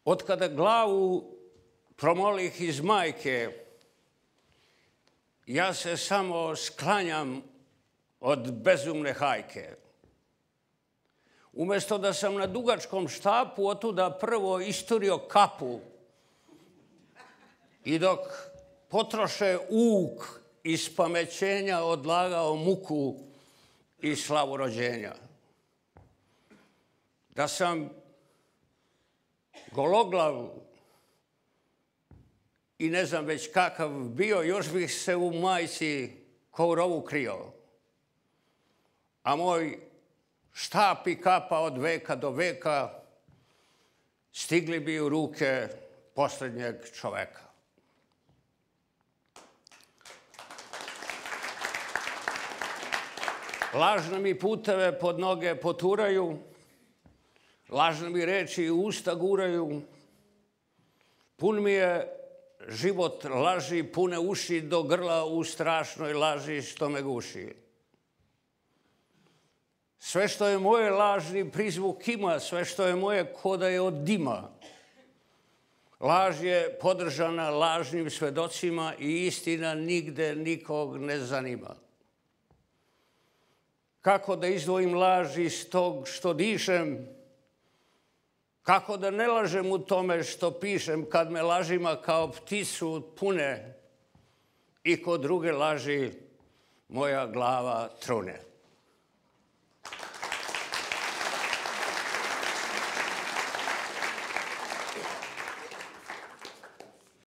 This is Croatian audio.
Od kada glavu promolih iz majke, ja se samo sklanjam od bezumne hajke. Umjesto da sam na dugačkom štapu otuda prvo isturio kapu i dok potroše uk iz pamećenja odlagao muku i slavu rođenja. Da sam gologlav i ne znam već kakav bio, još bih se u majci ko u rovu krio. A moj štap i kapa od veka do veka stigli bi u ruke posljednjeg čoveka. Lažne mi puteve pod noge poturaju, lažne mi reči u usta guraju. Pun mi je život laži, pune uši do grla u strašnoj laži što me guši. Sve što je moje lažni prizvuk ima, sve što je moje ko da je od dima. Laž je podržana lažnim svedocima i istina nigde nikog ne zanima. Kako da izdvojim laž iz tog što dišem, kako da ne lažem u tome što pišem kad me lažima kao pticu pune i kod druge laži moja glava trune.